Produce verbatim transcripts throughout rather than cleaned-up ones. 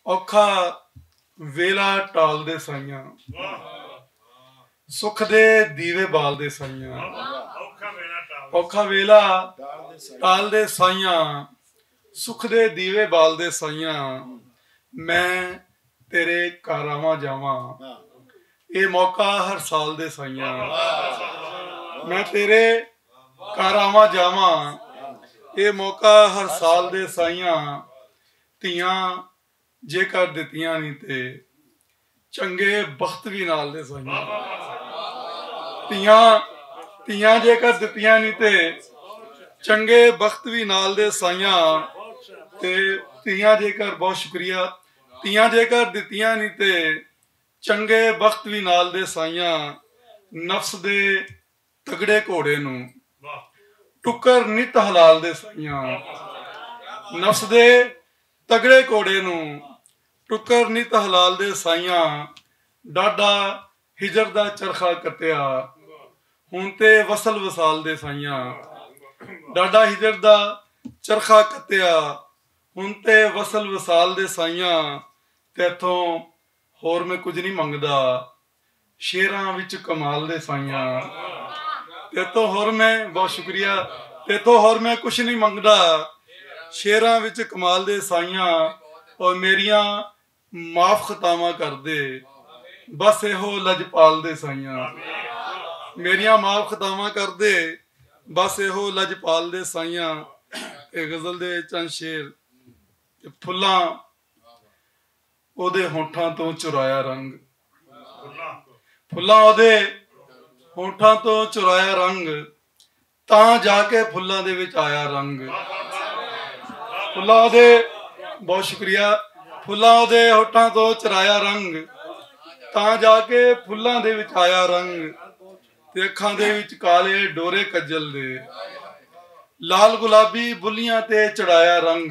اوکھا ویلا ٹال دے سائیاں، سکھ دے دیوے بال دے سائیاں۔ اوکھا ویلا ٹال دے سائیاں، سکھ دے دیوے بال دے سائیاں۔ میں تیرے کاراواں جاواں، اے موقع ہر سال دے سائیاں۔ میں تیرے کاراواں جاواں، اے موقع ہر سال دے سائیاں۔ تیاں جے کر دتیاں نی تے چنگے بخت وی نال دے سائیاں۔ تیاں تیاں جے کر دتیاں نی تے چنگے بخت وی نال دے سائیاں۔ تے تیاں جے کر، بہت شکریہ، تیاں جے کر دتیاں نی تے چنگے بخت وی نال دے سائیاں۔ نفس دے تگڑے گھوڑے نوں ٹکر نت حلال دے سائیاں۔ نفس دے تگڑے گھوڑے نوں ٹکر نت حلال دے سائیاں۔ ڈاڈا ہجر دا چرخا کٹیا، ہن تے وصل وصال دے سائیاں۔ ڈاڈا ہجر دا چرخا کٹیا، ہن تے وصل وصال دے سائیاں۔ تیتھوں ہور میں کچھ نہیں منگدا، شیراں وچ کمال دے سائیاں۔ تیتھوں ہور میں، بہت شکریہ، تیتھوں ہور میں کچھ نہیں منگدا، شیراں وچ کمال دے سائیاں۔ اور میریاں معاف خطاواں کر دے، بس ایہو لجپال دے سائیاں۔ میریاں معاف خطاواں کر دے، بس ایہو لجپال دے سائیاں۔ اے غزل دے چند شعر۔ تے پھلاں اودے ہونٹاں تو چرایا رنگ، پھلاں اودے ہونٹاں تو چرایا رنگ، تاں جا کے پھلاں دے وچ آیا رنگ۔ پھلاں اودے، بہت شکریہ، پھلاں اودے ہونٹاں تو چرایا رنگ، تاں جا کے پھلاں دے وچ آیا رنگ۔ تے اکھاں دے وچ کالے ڈورے کجل دے، لال گلابی بلیاں تے چڑھایا رنگ۔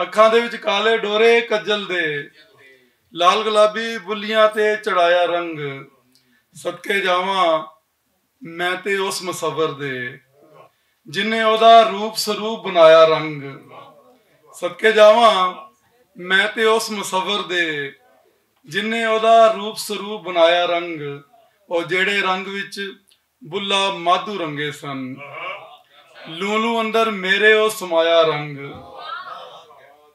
اکھاں دے وچ کالے ڈورے کجل دے، لال گلابی بلیاں تے چڑھایا رنگ۔ صدقے جاواں میں تے اس مصور دے، جن نے اودا روپ سروپ بنایا رنگ۔ صدقے جاواں میں تے اس مصور دے، جن نے اودا روپ سروپ بنایا رنگ۔ او جیڑے رنگ وچ بلا مادھو رنگے سن، لولو اندر میرے او سمایا رنگ۔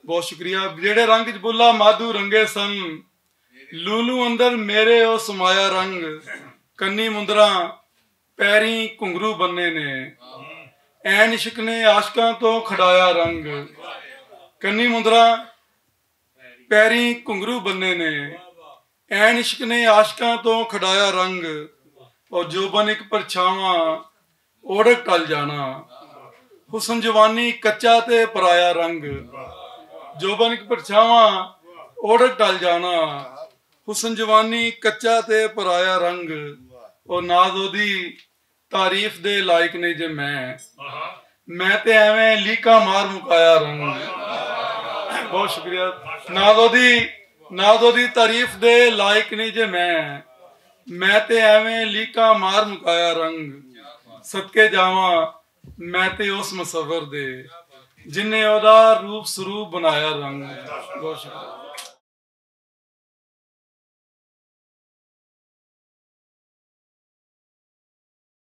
بہت شکریہ۔ جیڑے رنگ وچ بلا مادھو رنگے سن، لولو اندر میرے او سمایا رنگ۔ کنی مندراں پیریں گھنگرو بننے نے، این عشق نے عاشقاں تو کھڈایا رنگ۔ کنی مندراں پیریں گھنگرو بننے نے، این عشق نے عاشقاں تو کھڈایا رنگ۔ اور جوبن اک پرچھاواں اوڑک ٹل جانا، حسن جوانی کچا تے پرایا رنگ۔ جوبن اک پرچھاواں اوڑک ٹل جانا، حسن جوانی کچا تے پرایا رنگ۔ او ناز اودی تعریف دے لائق نہیں جے میں، میں تے ایویں لیکا مار مکایا رنگ۔ بہت شکریہ۔ ناز اودی، ناز اودی تعریف دے لائق نہیں جے میں، میں تے ایویں لیکا مار مکایا رنگ۔ صدقے جاواں میں تے اس مصور دے، جن نے اودا روپ سروپ بنایا رنگ۔ بہت شکریہ۔